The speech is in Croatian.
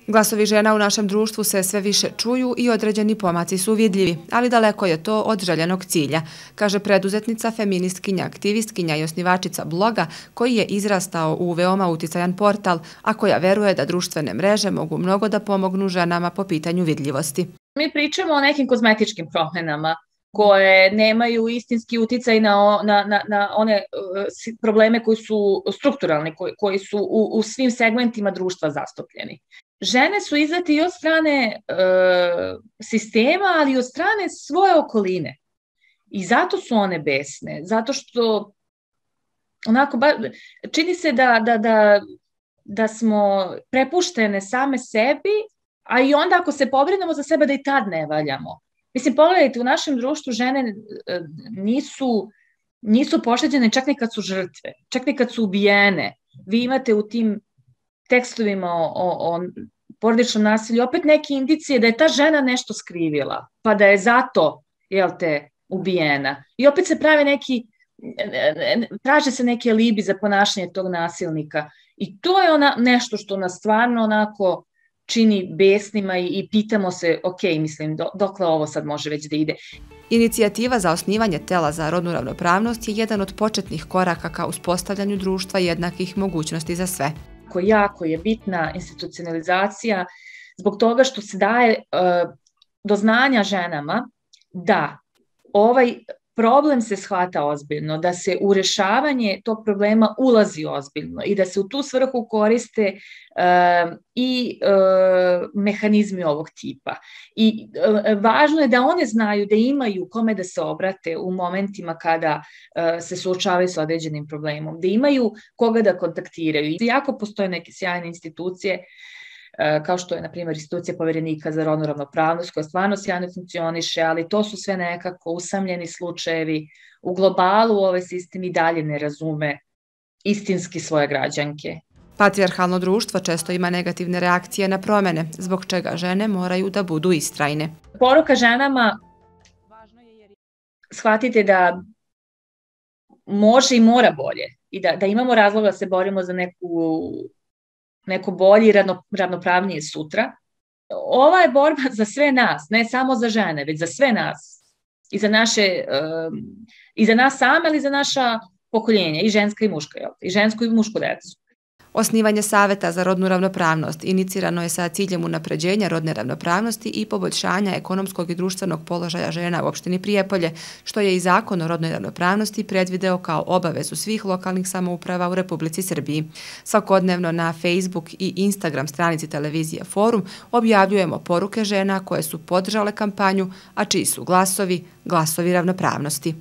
Glasovi žena u našem društvu se sve više čuju i određeni pomaci su vidljivi, ali daleko je to od željenog cilja, kaže preduzetnica, feministkinja, aktivistkinja i osnivačica bloga koji je izrastao u veoma uticajan portal, a koja veruje da društvene mreže mogu mnogo da pomognu ženama po pitanju vidljivosti. Mi pričamo o nekim kozmetičkim promjenama koje nemaju istinski uticaj na one probleme koji su strukturalni, koji su u svim segmentima društva zastupljeni. Žene su izdate i od strane sistema, ali i od strane svoje okoline. I zato su one besne, zato što čini se da smo prepuštene same sebi, a i onda ako se pobrinemo za sebe da i tad ne valjamo. Mislim, pogledajte, u našem društvu žene nisu pošteđene čak ni kad su žrtve, čak ni kad su ubijene. Vi imate u tim tekstovima o porodičnom nasilju opet neke indicije da je ta žena nešto skrivila, pa da je zato, ubijena. I opet se traže se neki alibi za ponašanje tog nasilnika. I to je nešto što nas stvarno onako čini besnima i pitamo se, dokle ovo sad može već da ide. Inicijativa za osnivanje tela za rodnu ravnopravnost je jedan od početnih koraka ka uspostavljanju društva jednakih mogućnosti za sve. Jako je bitna institucionalizacija zbog toga što se daje do znanja ženama da ovaj problem se shvata ozbiljno, da se u rešavanje tog problema ulazi ozbiljno i da se u tu svrhu koriste i mehanizmi ovog tipa. I važno je da one znaju da imaju kome da se obrate u momentima kada se suočavaju sa određenim problemom, da imaju koga da kontaktiraju. Jako postoje neke sjajne institucije, kao što je, na primjer, institucija Poverenika za rodnu ravnopravnost, koja stvarno sjajno funkcioniše, ali to su sve nekako usamljeni slučajevi. U globalu ovaj sistem i dalje ne razume istinski svoje građanke. Patrijarhalno društvo često ima negativne reakcije na promene, zbog čega žene moraju da budu istrajne. Poruka ženama, shvatite može i mora bolje i da imamo razloga da se borimo za neko bolje i ravnopravnije sutra. Ova je borba za sve nas, ne samo za žene, već za sve nas. I za nas same, ali i za naša pokoljenja, i ženska i muška, i žensku i mušku decu. Osnivanje Saveta za rodnu ravnopravnost inicirano je sa ciljem unapređenja rodne ravnopravnosti i poboljšanja ekonomskog i društvenog položaja žena u opštini Prijepolje, što je i Zakon o rodnoj ravnopravnosti predvideo kao obavezu svih lokalnih samouprava u Republici Srbiji. Svakodnevno na Facebook i Instagram stranici televizije Forum objavljujemo poruke žena koje su podržale kampanju, a čiji su glasovi ravnopravnosti.